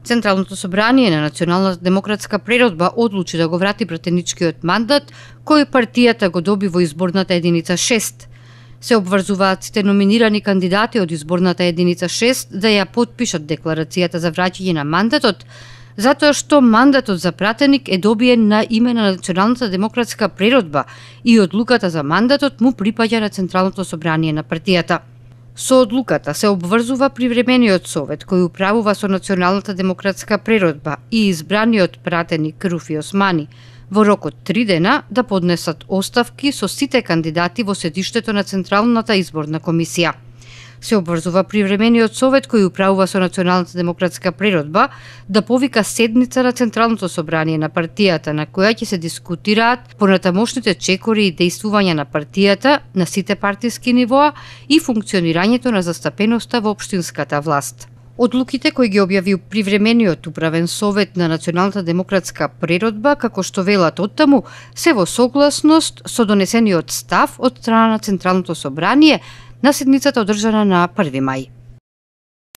Централното собрание на Националната демократска преродба одлучи да го врати пратеничкиот мандат кој партијата го доби во изборната единица 6. Се обврзуваат сите номинирани кандидати од изборната единица 6 да ја потпишат декларацијата за враќање на мандатот, затоа што мандатот за пратеник е добиен на име на Националната демократска преродба и одлуката за мандатот му припаѓа на Централното собрание на партијата. Со одлуката се обврзува привремениот совет кој управува со Националната демократска преродба и избраниот пратеник Руфи Османи во рок од 3 дена да поднесат оставки со сите кандидати во седиштето на Централната изборна комисија. Се обврзува привремениот совет кој управува со Националната демократска преродба да повика седница на Централното собрание на партијата на која ќе се дискутираат понатамошните чекори и дејствувања на партијата на сите партиски нивоа и функционирањето на застапеноста во општинската власт. Одлуките кои ги објави привремениот управен совет на Националната демократска преродба, како што велат оттаму, се во согласност со донесениот став од страна на Централното собрание на седницата одржана на 1 мај.